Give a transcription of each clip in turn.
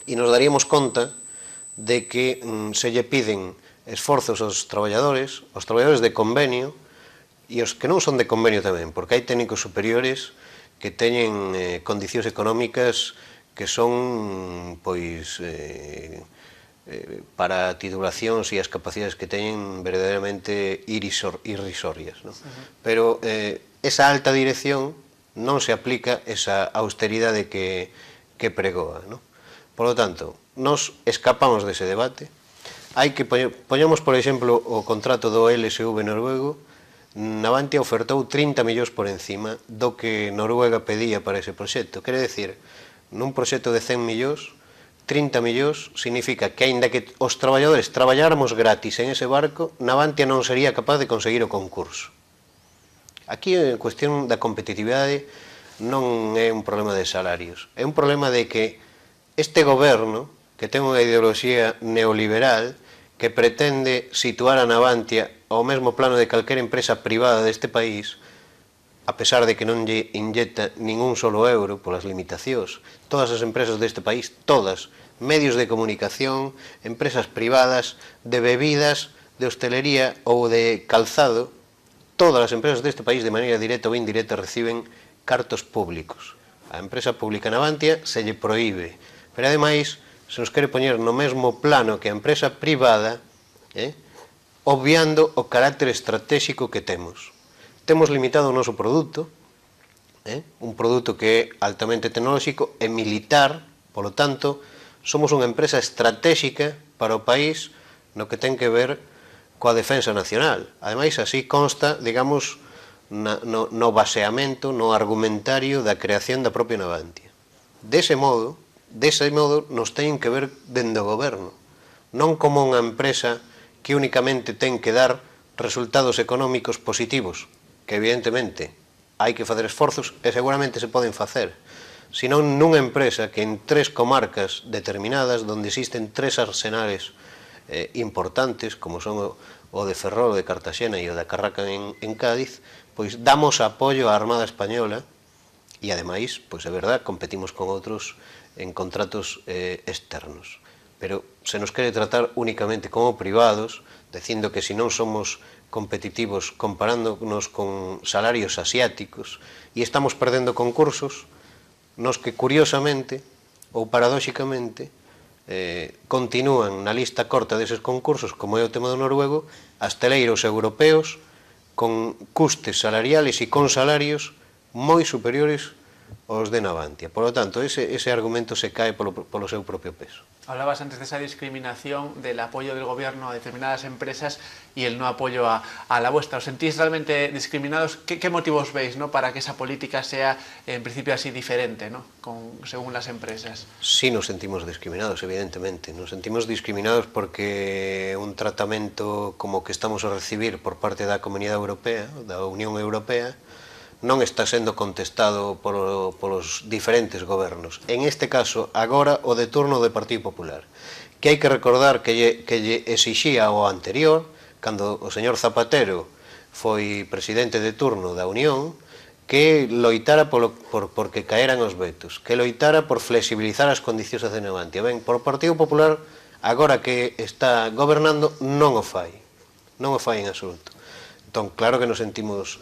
e nos daríamos conta de que se lle piden esforzos aos traballadores de convenio, e os que non son de convenio tamén, porque hai técnicos superiores que teñen condicións económicas que son, pois, para titulacións e as capacidades que teñen verdadeiramente irrisorias, non? Pero esa alta dirección non se aplica esa austeridade que pregoa, non? Por lo tanto, nos escapamos dese debate. Hai que poñamos, por exemplo, o contrato do LSV noruego. Navantia ofertou 30 millóns por encima do que Noruega pedía para ese proxecto. Quere decir, nun proxecto de 100 millóns, 30 millóns significa que, aínda que os traballadores traballáramos gratis en ese barco, Navantia non sería capaz de conseguir o concurso. Aquí a cuestión da competitividade non é un problema de salarios, é un problema de que este goberno, que ten unha ideoloxía neoliberal, que pretende situar a Navantia ao mesmo plano de calquera empresa privada deste país, a pesar de que non lle inyecta ningún solo euro polas limitacións. Todas as empresas deste país, todas, medios de comunicación, empresas privadas, de bebidas, de hostelería ou de calzado, todas as empresas deste país, de maneira directa ou indirecta, reciben cartos públicos. A empresa pública Navantia se lle proíbe, pero ademais se nos quere poñer no mesmo plano que a empresa privada, obviando o carácter estratégico que temos. Temos limitado o noso produto, un produto que é altamente tecnolóxico e militar, polo tanto, somos unha empresa estratégica para o país no que ten que ver coa defensa nacional. Ademais, así consta, digamos, no baseamento, no argumentario da creación da propia Navantia. Dese modo, nos teñen que ver dende o goberno, non como unha empresa que únicamente ten que dar resultados económicos positivos, que evidentemente hai que facer esforzos e seguramente se poden facer, senón nunha empresa que en 3 comarcas determinadas, onde existen 3 arsenales importantes, como son o de Ferrol, o de Cartaxena e o da Carraca en Cádiz, pois damos apoio á Armada Española e, ademais, pois é verdad, competimos con outros en contratos externos. Pero se nos quere tratar únicamente como privados, dicindo que se non somos competitivos comparándonos con salarios asiáticos e estamos perdendo concursos, nos que curiosamente ou paradóxicamente continúan na lista corta deses concursos, como é o tema do noruego, asteleiros europeos con custes salariales e con salarios moi superiores aos de Navantia. Por lo tanto, ese argumento se cae polo seu propio peso. Hablabas antes de esa discriminación, del apoyo del gobierno a determinadas empresas y el no apoyo a la vuestra. ¿Os sentís realmente discriminados? ¿Qué motivos veis, ¿no?, para que esa política sea, en principio, así diferente, ¿no?, según las empresas? Sí, nos sentimos discriminados, evidentemente. Nos sentimos discriminados porque un tratamento como que estamos a recibir por parte da Comunidade Europea, da Unión Europea, non está sendo contestado polos diferentes gobernos. En este caso, agora, o de turno do Partido Popular, que hai que recordar que lle exixía ao anterior, cando o señor Zapatero foi presidente de turno da Unión, que loitara porque caeran os vetos, que loitara por flexibilizar as condicións de Navantia. Ben, por o Partido Popular, agora que está gobernando, non o fai en absoluto. Entón, claro que nos sentimos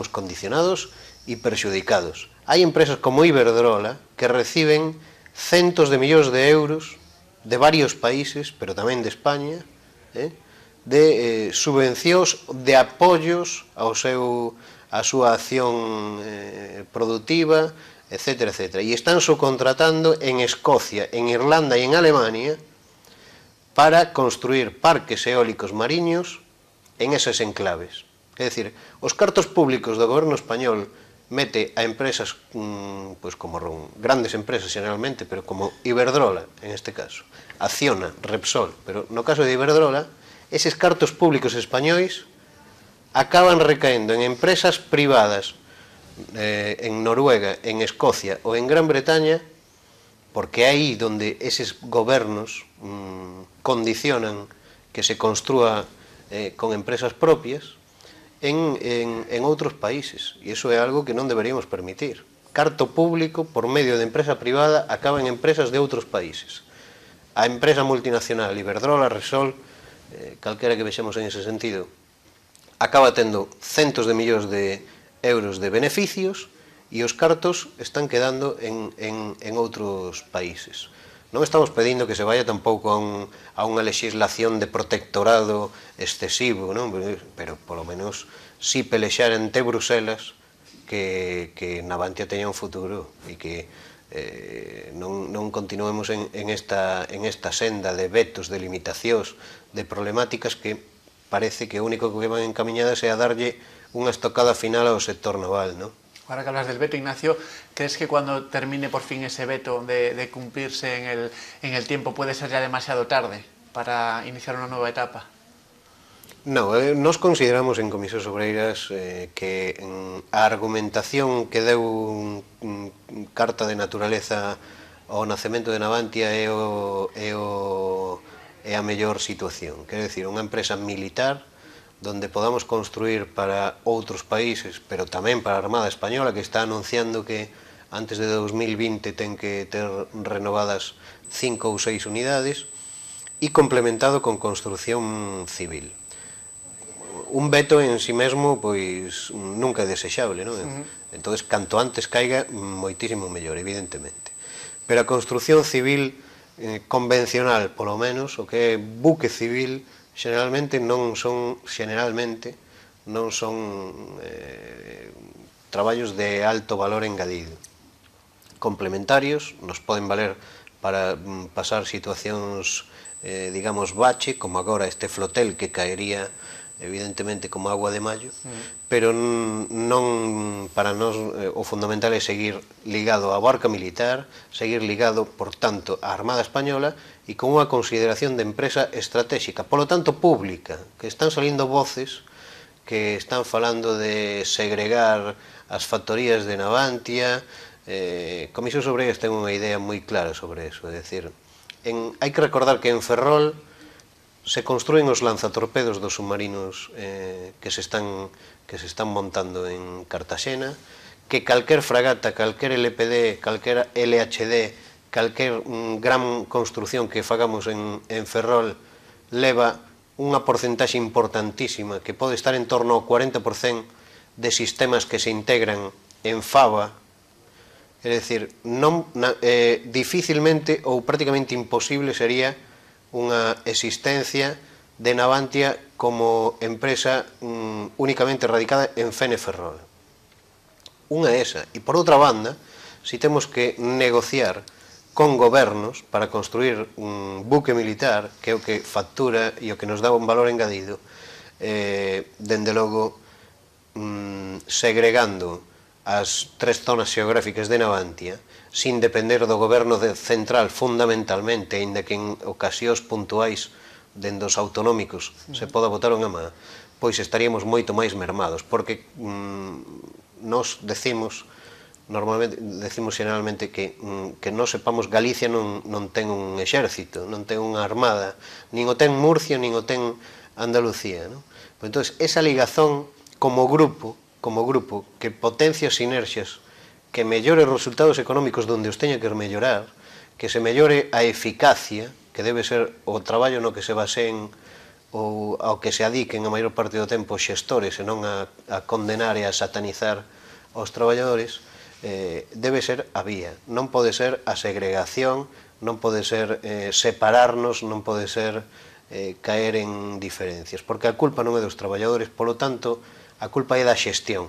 condicionados e perxudicados. Hai empresas como Iberdrola que reciben centos de millóns de euros de varios países, pero tamén de España, de subvencións, de apoios á súa acción productiva, etc. E están subcontratando en Escocia, en Irlanda e en Alemania para construir parques eólicos mariños en esas enclaves. É dicir, os cartos públicos do goberno español mete a empresas, pois como grandes empresas generalmente, pero como Iberdrola, en este caso, Acciona, Repsol, pero no caso de Iberdrola, eses cartos públicos españois acaban recaendo en empresas privadas en Noruega, en Escocia ou en Gran Bretaña, porque é aí onde eses gobernos condicionan que se construa con empresas propias en outros países, e iso é algo que non deberíamos permitir. carto público por medio de empresa privada acaba en empresas de outros países. A empresa multinacional Iberdrola, Repsol, calquera que vexemos en ese sentido, acaba tendo centos de millóns de euros de beneficios e os cartos están quedando en outros países. Non estamos pedindo que se vaya tampouco a unha legislación de protectorado excesivo, non? Pero polo menos si pelexar ante Bruselas que Navantia teña un futuro e que non continuemos en esta senda de vetos, de limitacións, de problemáticas que parece que o único que van encamiñadas é a darlle unha estocada final ao sector naval, non? Ahora que hablas del veto, Ignacio, ¿crees que cuando termine por fin ese veto de cumplirse en el tiempo puede ser ya demasiado tarde para iniciar una nueva etapa? No, nos consideramos en Comisións Obreiras que a argumentación que deu carta de naturaleza ao nacemento de Navantia é a mellor situación. Quer decir, unha empresa militar donde podamos construir para outros países, pero tamén para a Armada Española, que está anunciando que antes de 2020 ten que ter renovadas 5 ou 6 unidades, e complementado con construcción civil. Un veto en si mesmo, pois, nunca é desexable, non? Entón, canto antes caiga, moitísimo mellor, evidentemente. Pero a construcción civil convencional, polo menos, o que é buque civil, generalmente non son traballos de alto valor engadido. Complementarios, nos poden valer para pasar situacións, digamos, bache, como agora este flotel que caería evidentemente como agua de maio, pero non, para nós o fundamental é seguir ligado á barca militar, seguir ligado, por tanto, á Armada Española e con unha consideración de empresa estratégica, polo tanto pública, que están salindo voces que están falando de segregar as factorías de Navantia. Comisións Obreiras ten unha idea moi clara sobre eso, é dicir, hai que recordar que en Ferrol se construen os lanzatorpedos dos submarinos que se están montando en Cartaxena, que calquer fragata, calquer LPD, calquer LHD, calquer gran construción que fagamos en Ferrol leva unha porcentaxe importantísima que pode estar en torno ao 40% de sistemas que se integran en Fava. É dicir, dificilmente ou prácticamente imposible sería unha existencia de Navantia como empresa únicamente radicada en Fene Ferrol. Unha é esa. E por outra banda, si temos que negociar con gobernos para construir un buque militar, que é o que factura e o que nos dá un valor engadido, dende logo segregando as 3 zonas xeográficas de Navantia, sin depender do goberno central fundamentalmente, aínda que en ocasións puntuais dende os autonómicos se poda botar unha má, pois estaríamos moito máis mermados, porque nos decimos generalmente que non sepamos, Galicia non ten un exército, non ten unha armada, nin o ten Murcia, nin o ten Andalucía. Entón, esa ligazón como grupo, que potencia sinerxias, que mellore os resultados económicos donde os teña que mellorar, que se mellore a eficacia, que debe ser o traballo no que se baseen ou ao que se adiquen a maior parte do tempo os xestores e non a condenar e a satanizar aos traballadores, debe ser a vía. Non pode ser a segregación, non pode ser separarnos, non pode ser caer en diferencias, porque a culpa non é dos traballadores, polo tanto, a culpa é da xestión.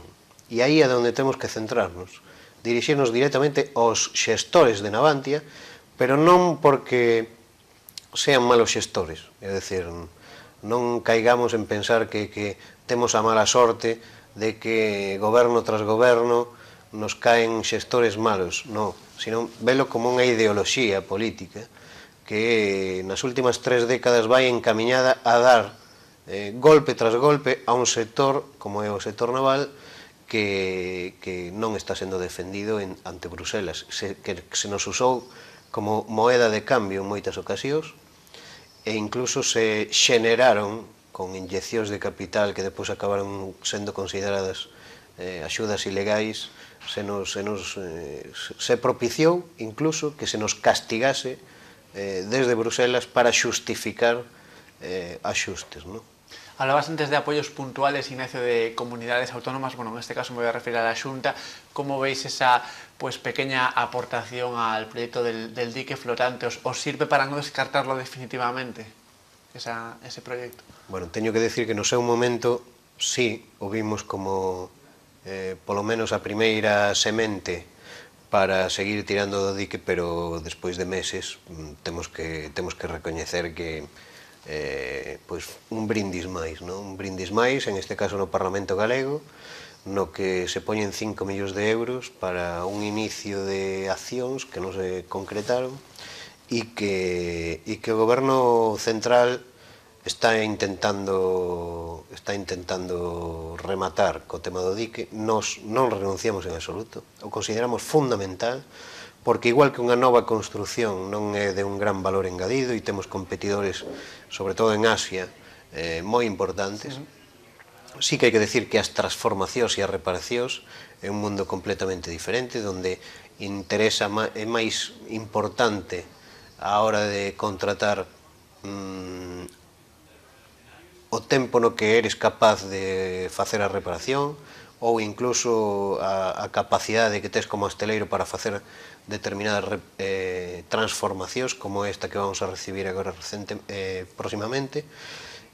E aí é onde temos que centrarnos, dirixirnos directamente aos xestores de Navantia, pero non porque sean malos xestores, é dicir, non caigamos en pensar que temos a mala sorte de que goberno tras goberno nos caen xestores malos, non, sino velo como unha ideoloxía política que nas últimas 3 décadas vai encamiñada a dar golpe tras golpe a un sector como é o sector naval que non está sendo defendido ante Bruselas, que se nos usou como moeda de cambio en moitas ocasións, e incluso se xeneraron con inyeccións de capital que depois acabaron sendo consideradas axudas ilegais, se propiciou incluso que se nos castigase desde Bruselas para xustificar axustes, non? Hablabas antes de apoyos puntuales, Ignacio, de comunidades autónomas. Bueno, en este caso me voy a referir a la Xunta. ¿Cómo veis esa pequeña aportación al proyecto del dique flotante? ¿Os sirve para no descartarlo definitivamente, ese proyecto? Bueno, teño que decir que no seu momento sí o vimos como polo menos a primeira semente para seguir tirando do dique, pero despois de meses temos que recoñecer que un brindis máis, non? Un brindis máis, en este caso no Parlamento Galego, no que se poñen 5 millóns de euros para un inicio de accións que non se concretaron e que o Goberno Central está intentando rematar co tema do dique. Nos non renunciamos en absoluto, o consideramos fundamental, porque igual que unha nova construción non é de un gran valor engadido e temos competidores, sobre todo en Asia, moi importantes, sí que hai que decir que as transformacións e as reparacións é un mundo completamente diferente, onde é máis importante a hora de contratar o tempo no que eres capaz de facer a reparación, ou incluso a capacidade que tes como hosteleiro para facer determinadas transformacións como esta que vamos a recibir agora próximamente,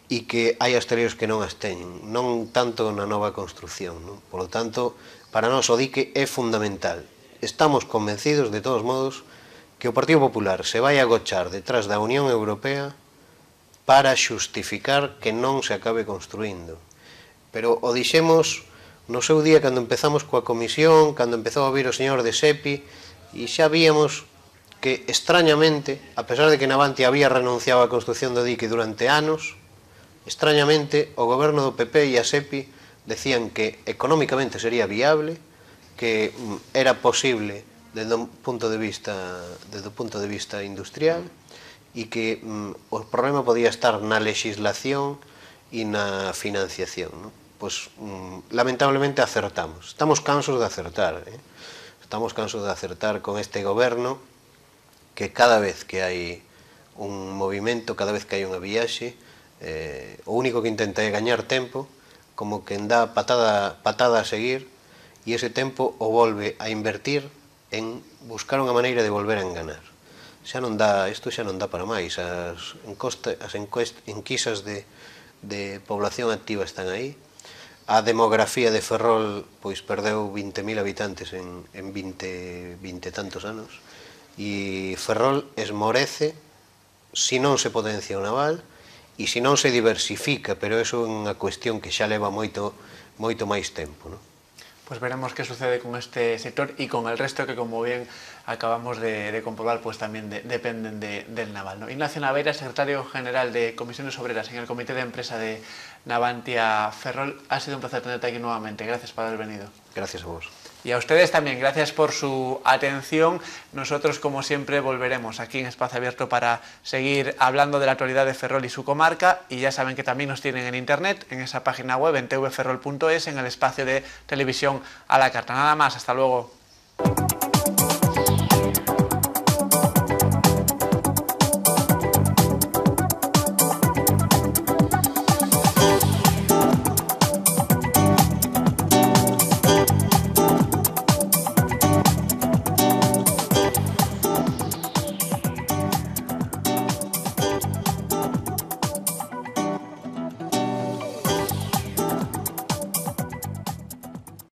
e que hai hosteleiros que non as teñen, non tanto na nova construción, non? Por lo tanto, para nós o dique é fundamental. Estamos convencidos, de todos modos, que o Partido Popular se vai agochar detrás da Unión Europea para xustificar que non se acabe construindo. Pero o dixemos no seu día cando empezamos coa comisión, cando empezou a vir o señor de Sepi, e xa víamos que, extrañamente, a pesar de que Navantia había renunciado á construción do dique durante anos, extrañamente o goberno do PP e a Sepi decían que económicamente sería viable, que era posible desde o punto de vista industrial, e que o problema podía estar na legislación e na financiación, non? Pois lamentablemente acertamos. Estamos cansos de acertar, estamos cansos de acertar con este goberno, que cada vez que hai un movimento, cada vez que hai unha viaxe, o único que intenta é gañar tempo, como que dá patada a seguir, e ese tempo o volve a invertir en buscar unha maneira de volver a enganar. Isto xa non dá para máis. As enquisas de población activa están aí. A demografía de Ferrol perdeu 20.000 habitantes en 20 e tantos anos, e Ferrol esmorece se non se potencia o naval e se non se diversifica, pero iso é unha cuestión que xa leva moito máis tempo, non? Pues veremos qué sucede con este sector y con el resto que, como bien acabamos de comprobar, pues también dependen del naval, ¿no? Ignacio Naveira, secretario general de Comisiones Obreras en el Comité de Empresa de Navantia Ferrol. Ha sido un placer tenerte aquí nuevamente. Gracias por haber venido. Gracias a vos. Y a ustedes también, gracias por su atención. Nosotros, como siempre, volveremos aquí en Espacio Abierto para seguir hablando de la actualidad de Ferrol y su comarca. Y ya saben que también nos tienen en internet, en esa página web, en tvferrol.es, en el espacio de televisión a la carta. Nada más, hasta luego.